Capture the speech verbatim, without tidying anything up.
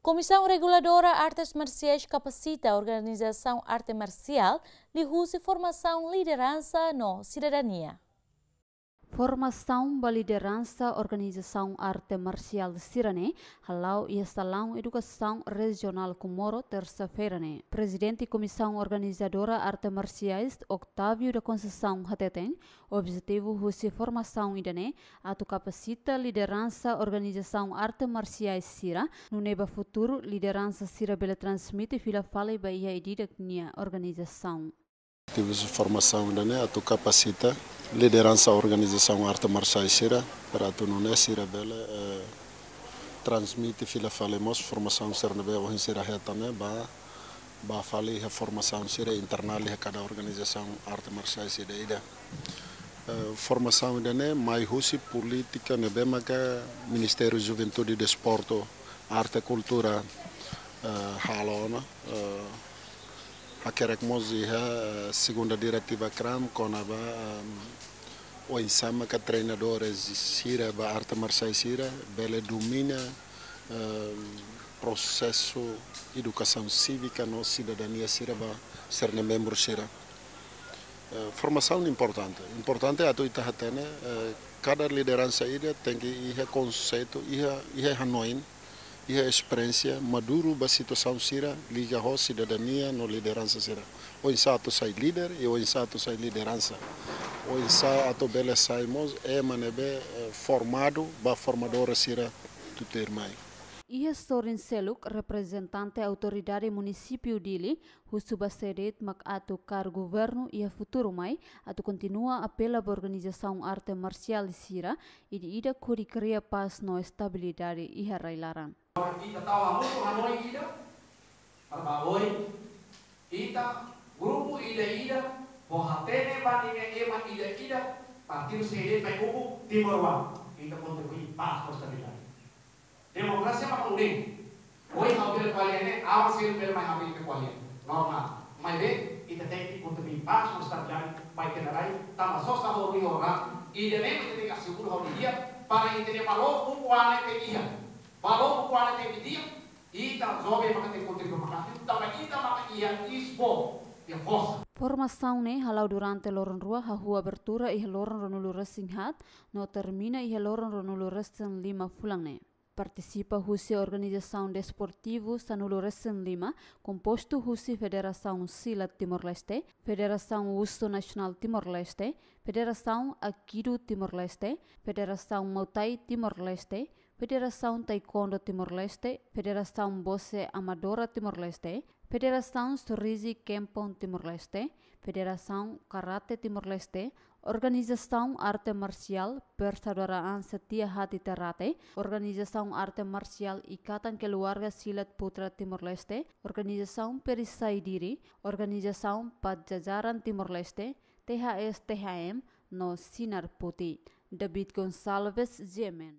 Komisaun Reguladora Artes Marsiais kapasita organizasaun arte marsiál liuhusi formasaun lideransa no sidadania. Formasaun ba lideransa organizasaun arte marsiál sira-ne'e hala'o iha Salaun Edukasaun Rejionál Comoro, tersa-feira ne'e. Prezidente Komisaun Organizadora Arte Marsiais, Octávio da Conceição, hateten, objetivu husi formasaun ida-ne'e atu kapasita lideransa organizasaun arte marsiais sira, nune'e ba futuru lideransa sira bele transmite fila fali ba iha ida-idak nia organizasaun. Objetivu husi formasaun ida-ne'e atu kapasita lideransa organizasaun arte marsiais sira, para atu nune'e sira bele, eh, transmite fila fali mós formasaun sira ne'ebé ohin sira hetan ne'e ba, ba fali iha formasaun sira internál iha kada organizasaun arte marsiais ida-idak. Eh, formasaun ida-ne'e mai husi polítika ne'ebé maka Ministériu Juventude, Desportu, Arte, Kultura, eh, halo ona, eh, hakerek mós iha, eh, segunda diretiva kram kona-ba, ehm, oinsá maka treinadores sira ba arte marsiais sira bele domina, ehm, prosesu edukasaun sívika no sidadania sira ba sira-nia membru sira. Eh, formasaun importante. Importante atu ita hatene, eh, kada lideransa ida tenke iha konseitu, iha, iha hanoin, iha esperiénsia maduru ba situasaun sira liga ho sidadania no lideransa sira. Oinsá atu sai líder i oinsá atu sai lideransa. Oinsá atu bele sai mós ema ne'ebé, eh, formadu ba formadora sira tutuir mai. Iha sorin seluk, reprezentante Autoridade Munisípiu Dili husu ba sé de'it mak atu kaer governu iha futuru mai atu kontinua apela ba organizasaun arte marsiál sira ida-idak hodi kria pás no estabilidade iha rai-laran. Ita tau hamutuk hanoin ida, para ba oin, ita grupu ida-idak, bele hatene ba ninia ema ida-idak, partidu sé de'it mai ukun Timor-Leste, ita kontribui pás no estabilidade. Demokrasia mak nune'e. Ohin ha'u bele ko'alia ne'e, aban seluk bele mai ha'u bele ko'alia. Normál. Maibé, ita tenke kontribui pás no estabilidade ba ita-nia rai, tanba sosa ho rui ho ran, ida-ne'e mak ita tenke asegura hodi di'ak, para ita-nia valór ukun-an ne'e tenke iha. Valór ukun-an ne'e tenke di'ak, ita joven maka tenke kontribui maka'as, tanba ita maka iha isbo, iha forsa. Formasaun ne'e hala'o durante loron rua, hahú abertura iha loron ruanulu-resin-haat, no termina iha loron ruanulu-resin-lima fulan ne'e. Partisipa husi organizasaun desportivu sanulu-resin-lima, kompostu husi Federasaun Silat Timor-Leste, Federasaun Wushu Nasionál Timor-Leste, Federasaun Aikido Timor-Leste, Federasaun Muay Thai Timor-Leste, Federasaun Taekwondo Timor-Leste, Federasaun Boxe Amadora Timor-Leste, Federasaun Surizi Kempon Timor-Leste, Federasaun Karate Timor-Leste, Organizasaun Arte Marsiál Persaudara An Setia Hati Ternate, Organizasaun Arte Marsiál Ikatan Keluarga Silat Putra Timor-Leste, Organizasaun Perisai Diri, Organizasaun Pajajaran Timor-Leste, T H S T H M, no Sinar Putih. David Gonçalves, G M N.